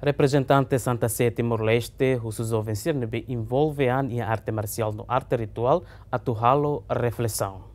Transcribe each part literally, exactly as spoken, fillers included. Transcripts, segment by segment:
Reprezentante Santa Sé Timor-Leste husu joven sira ne'ebé envolve an iha arte marsiál no arte rituál atu halo reflesaun.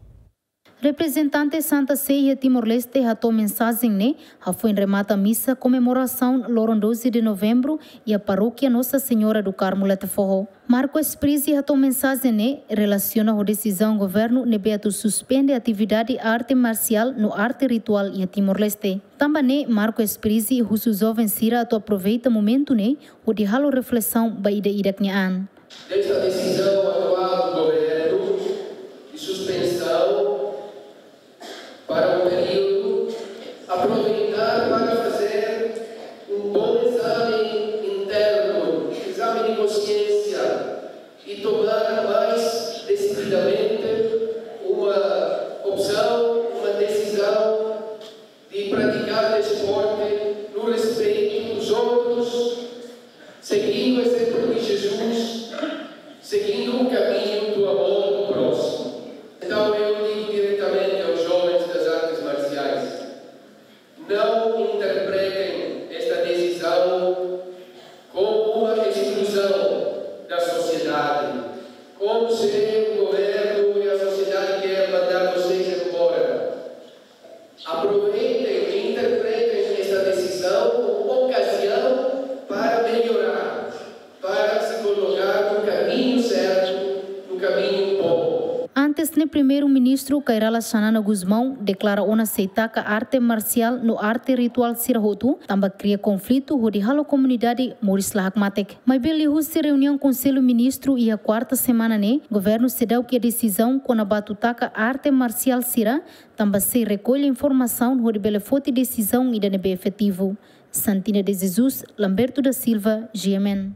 Reprezentante Santa Sé iha Timor-Leste hato'o mensajen ne'e hafoin remata misa komemorasaun loron doze de novembro iha Parókia Nossa Senhora do Carmo Letefoho. Marco Esprisi hato'o mensajen ne'e relasiona ho desizaun governu ne'ebé atu suspende atividade arte marsiál no arte rituál iha Timor-Leste. Tanba ne'e Marco Esprisi husu joven sira atu aproveita momentu ne'e hodi halo reflesaun ba ida-idak nia an. Desta decisão atual do governo de suspensão para um período, aproveitar para fazer um bom exame interno, exame de consciência e tomar mais decididamente uma opção, uma decisão de praticar desporto no respeito dos outros, seguindo o exemplo de Jesus, seguindo o caminho do amor do próximo. Então eu digo diretamente aos jovens das artes marciais: não interpretem esta decisão como uma exclusão da sociedade, como se o governo e a sociedade quer mandar vocês embora. Aproveitem e interpretem esta decisão como ocasião para melhorar, para se colocar no caminho certo, no caminho bom. Antes ne'e Primeiru-Ministru Kay Rala Xanana Gusmão deklara ona sei taka arte marsiál no arte rituál sira hotu, tanba kria konflitu hodi halo komunidade moris la hakmatek. Maibé liuhusi reuniaun Konsellu Ministru iha kuarta semana ne'e, governu seidauk iha desizaun kona-ba atu taka arte marsiál sira, tanba sei rekolla informasaun hodi bele foti desizaun ida ne'ebé efetivu. Santina de Jesus, Lamberto da Silva, G M N.